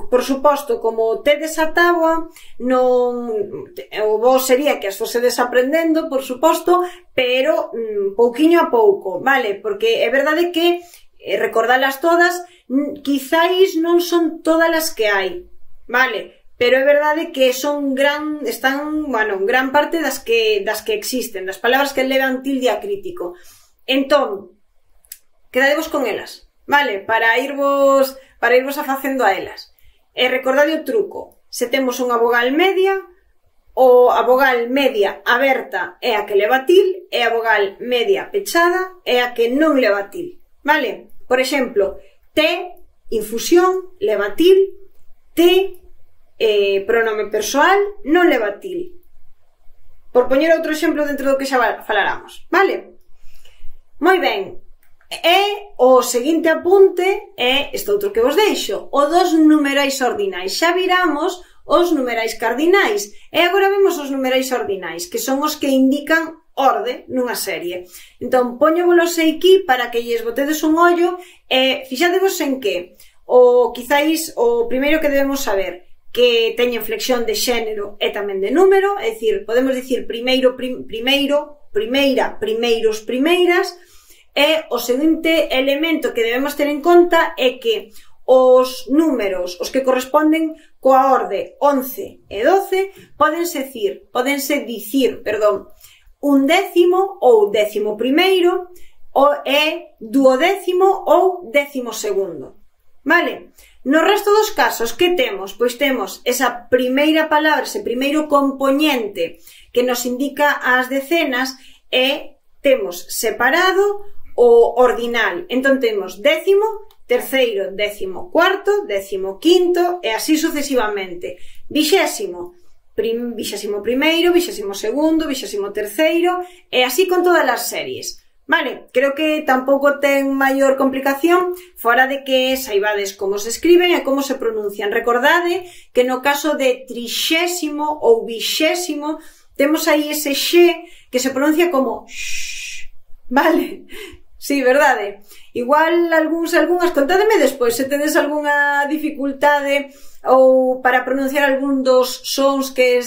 Por suposto, como tedes a táboa, o vos sería que as fosedes aprendendo, por suposto, pero pouquiño a pouco, vale? Porque é verdade que recordalas todas, quizáis non son todas as que hai, vale? pero é verdade que están, gran parte das que existen, das palabras que levan tilde acrítico. Entón, quedadevos con elas, vale? Para irvos afacendo a elas. E recordade o truco, se temos unha vogal media, a vogal media aberta é a que leva til e a vogal media pechada é a que non leva til, vale? Por exemplo, T, infusión, leva til, T, pronome persoal, non leva til. Por poñer outro exemplo dentro do que xa falaramos, vale? Moi ben, e o seguinte apunte é este outro que vos deixo, o dos numerais ordinais. Xa viramos os numerais cardinais e agora vemos os numerais ordinais, que son os que indican orde nunha serie. Entón, poñovolos aquí para que lles botedes un ollo e fixadevos en que quizáis o primeiro que debemos saber que teñen flexión de xénero e tamén de número, é dicir, podemos dicir primeiro, primeira, primeiros, primeiras, e o seguinte elemento que debemos ter en conta é que os números, os que corresponden coa orde 11 e 12, podense dicir, un décimo ou décimo primeiro e duodécimo ou décimo segundo, vale? No resto dos casos, que temos? Pois temos esa primeira palabra, ese primeiro compoñente que nos indica as decenas e temos separado o ordinal. Entón temos décimo, terceiro, décimo cuarto, décimo quinto e así sucesivamente. Vixésimo primeiro, vixésimo segundo, vixésimo terceiro e así con todas as series. Vale, creo que tampouco ten maior complicación fora de que saibades como se escriben e como se pronuncian. Recordade que no caso de trixésimo ou vixésimo temos aí ese xe que se pronuncia como x, vale? Sí, verdade? Igual algunhas, contádeme despois se tedes algunha dificultade ou para pronunciar algún dos sons que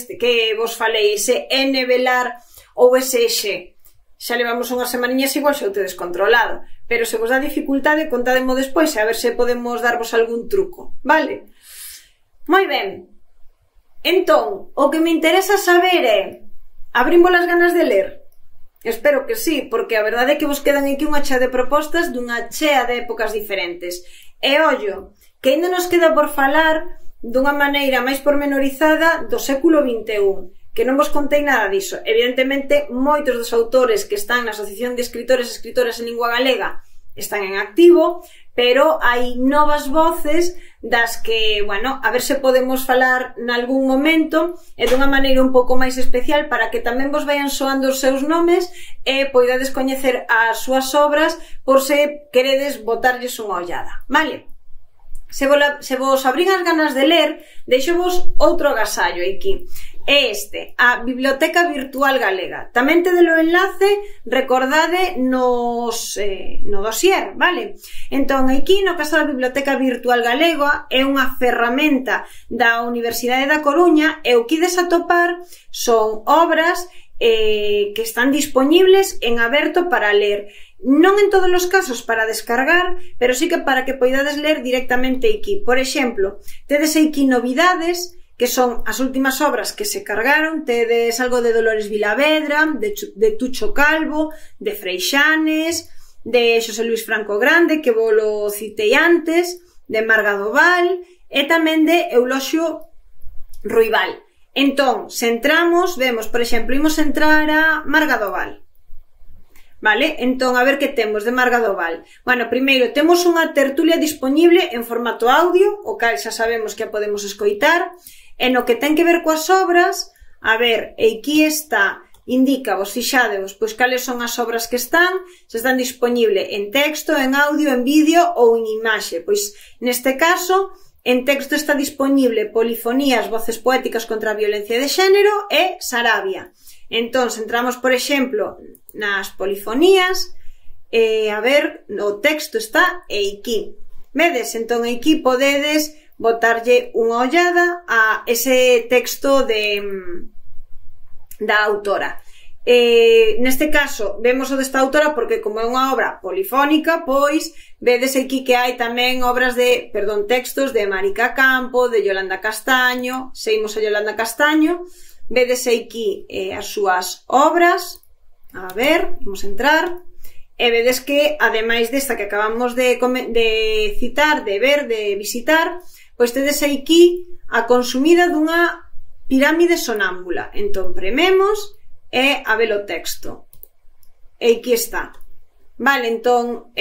vos falei, ese N velar ou ese xe. Xa levamos unhas semaniñas igual xa o tedes controlado, pero se vos dá dificultade contádemo despois e a ver se podemos darvos algún truco, vale? Moi ben, entón, o que me interesa saber é, abrimos as ganas de ler? Espero que sí, porque a verdade é que vos quedan aquí unha chea de propostas dunha chea de épocas diferentes. E ollo, que ainda nos queda por falar dunha maneira máis pormenorizada do século XXI, que non vos contei nada diso. Evidentemente, moitos dos autores que están na Asociación de Escritores e Escritoras en Lingua Galega están en activo, pero hai novas voces das que, a ver se podemos falar nalgún momento e dunha maneira un pouco máis especial para que tamén vos vayan soando os seus nomes e poidades coñecer as súas obras por se queredes botarlles unha ollada, vale? Se vos abrín as ganas de ler, deixovos outro agasallo aquí. É a Biblioteca Virtual Galega. Tamén tedes o enlace, recordade, no dossier, vale? Entón, aquí, no caso da Biblioteca Virtual Galega, é unha ferramenta da Universidade da Coruña e o que ides atopar son obras que están disponibles en aberto para ler. Non en todos os casos para descargar, pero sí que para que poidades ler directamente aquí. Por exemplo, tedes aquí novidades, que son as últimas obras que se cargaron. Tedes algo de Dolores Vilavedra, de Tucho Calvo, de Freixanes, de Xosé Luis Franco Grande, que volo citei antes, de Marga Doval e tamén de Euloxio Ruibal. Entón, se entramos, vemos, por exemplo, imos entrar a Marga Doval. Vale? Entón, a ver que temos de Marga Doval. Bueno, primeiro, temos unha tertulia disponible en formato audio, o cal xa sabemos que a podemos escoitar. E no que ten que ver coas obras, a ver, aquí está, indica, vos fixadevos, pois cales son as obras que están, se están disponible en texto, en audio, en vídeo ou en imaxe. Pois, neste caso, en texto está disponible Polifonías, voces poéticas contra a violencia de xénero e Sarabia. Entón, entramos, por exemplo, nas polifonías, a ver, o texto está aquí. Vedes? Entón, aquí podedes botarlle unha ollada a ese texto da autora. Neste caso, vemos o desta autora porque como é unha obra polifónica, pois vedes aquí que hai tamén textos de Marica Campo, de Yolanda Castaño, seguimos a Yolanda Castaño, vedes aquí as súas obras, a ver, vamos a entrar, e vedes que, ademais desta que acabamos de citar, de ver, de visitar, pois tedes aquí a consumida dunha pirámide sonámbula. Entón, prememos e a ver o texto. E aquí está. Vale, entón,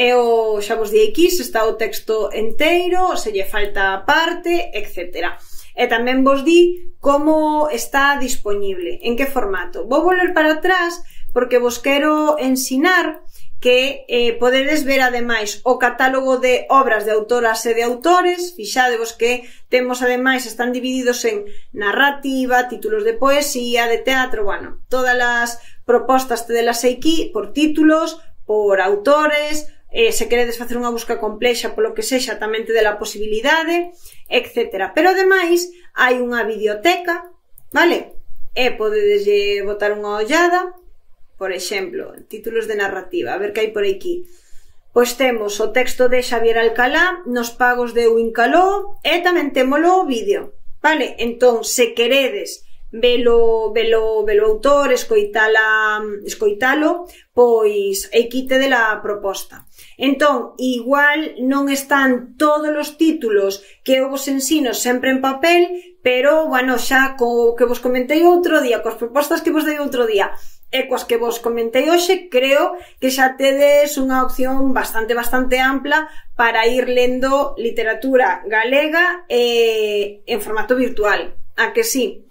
xa vos di aquí, se está o texto enteiro, se lle falta parte, etc. E tamén vos di como está disponible, en que formato. Vou volver para atrás porque vos quero ensinar que podedes ver ademais o catálogo de obras de autoras e de autores. Fixadevos que temos ademais, están divididos en narrativa, títulos de poesía, de teatro, bueno, todas as propostas tedelas aquí por títulos, por autores, se queredes facer unha busca complexa polo que sexa tamén tedela posibilidade, etc. Pero ademais hai unha biblioteca, vale? E podedes botar unha ollada. Por exemplo, títulos de narrativa, a ver que hai por aquí. Pois temos o texto de Xavier Alcalá, Nos pagos de Uincaló, e tamén témolo o vídeo, vale? Entón, se queredes velo autor, escoitalo, pois aquí tedela proposta. Entón, igual non están todos os títulos que eu vos ensino sempre en papel, pero, bueno, xa co que vos comentei outro día, coas propostas que vos dei outro día, e coas que vos comentei hoxe, creo que xa tedes unha opción bastante ampla para ir lendo literatura galega en formato virtual. A que sí?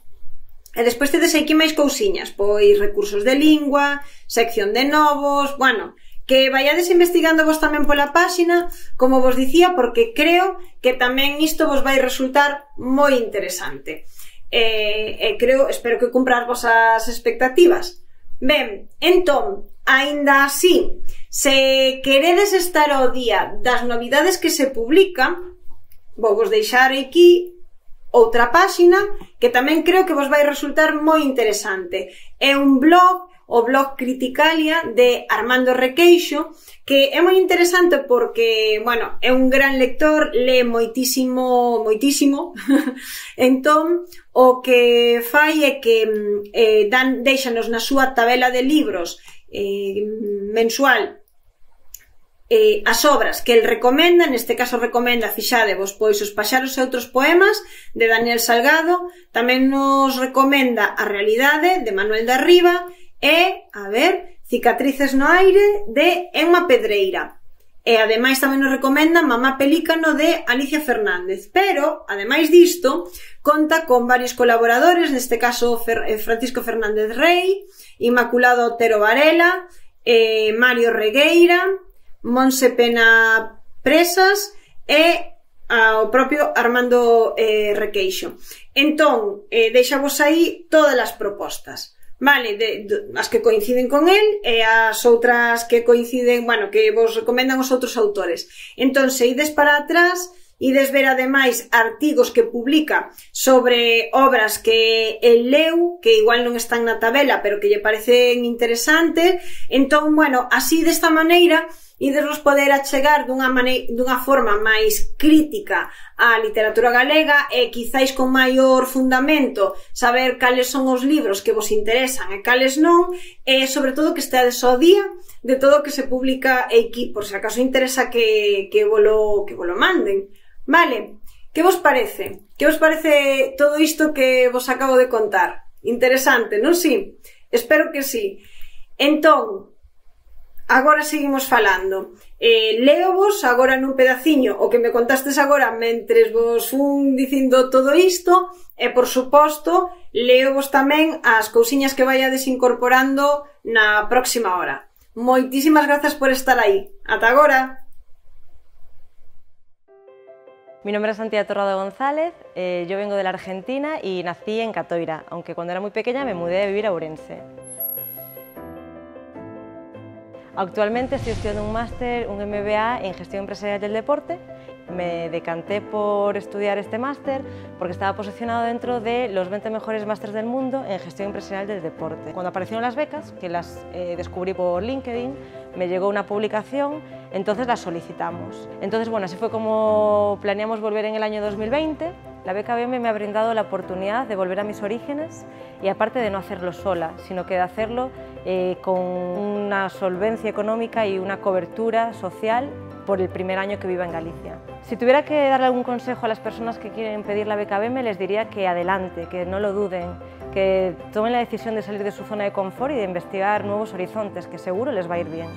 E despois tedes aquí máis cousiñas, pois recursos de lingua, sección de novos, bueno, que vaiades investigando vos tamén pola páxina, como vos dicía, porque creo que tamén isto vos vai resultar moi interesante. Espero que cumpra as vosas expectativas. Ben, entón, aínda así, se queredes estar ao día das novidades que se publican, vou vos deixar aquí outra páxina que tamén creo que vos vai resultar moi interesante. É un blog, o blog Criticalia de Armando Requeixo, que é moi interesante porque, bueno, é un gran lector, lee moitísimo, entón, o que fai é que deixanos na súa tabela de libros mensual as obras que el recomenda, neste caso recomenda, fixadevos, pois Os paxaros e outros poemas, de Daniel Salgado, tamén nos recomenda A realidade, de Manuel de Arriba, e, a ver, Cicatrices no aire, de Emma Pedreira. E, ademais, tamén nos recomenda Mamá Pelícano, de Alicia Fernández. Pero, ademais disto, conta con varios colaboradores, neste caso Francisco Fernández Rey, Inmaculado Otero Varela, Mario Regueira, Monse Pena Presas e o propio Armando Requeixo. Entón, deixavos aí todas as propostas, vale, as que coinciden con el e as outras que coinciden, bueno, que vos recomendan os outros autores. Entón, se ides para atrás, ides ver ademais artigos que publica sobre obras que el leu, que igual non están na tabela, pero que lle parecen interesantes. Entón, bueno, así desta maneira idesvos poder achegar dunha forma máis crítica á literatura galega e quizáis con maior fundamento saber cales son os libros que vos interesan e cales non, e sobre todo que esteades ao día de todo o que se publica aquí, por se acaso interesa que volo manden. Vale, que vos parece? Que vos parece todo isto que vos acabo de contar? Interesante, non si? Espero que si. Entón, agora seguimos falando. Leovos agora nun pedaciño o que me contastes agora mentres vos fun dicindo todo isto e, por suposto, leovos tamén as cousiñas que vaiades incorporando na próxima hora. Moitísimas grazas por estar aí. Ata agora! Mi nombre es Santiago Torrado González, yo vengo de la Argentina y nací en Catoira, aunque cuando era muy pequeña me mudé a vivir a Ourense. Actualmente estoy estudiando un máster, un MBA en Gestión Empresarial del Deporte Me decanté por estudiar este máster porque estaba posicionado dentro de los 20 mejores másteres del mundo en gestión empresarial del deporte. Cuando aparecieron las becas, que las descubrí por LinkedIn, me llegó una publicación, entonces las solicitamos. Entonces, bueno, así fue como planeamos volver en el año 2020. La beca BEME me ha brindado la oportunidad de volver a mis orígenes y aparte de no hacerlo sola, sino que de hacerlo con una solvencia económica y una cobertura social por el primer año que viva en Galicia. Si tuviera que darle algún consejo a las personas que quieren pedir la beca BEME, les diría que adelante, que no lo duden, que tomen la decisión de salir de su zona de confort y de investigar nuevos horizontes, que seguro les va a ir bien.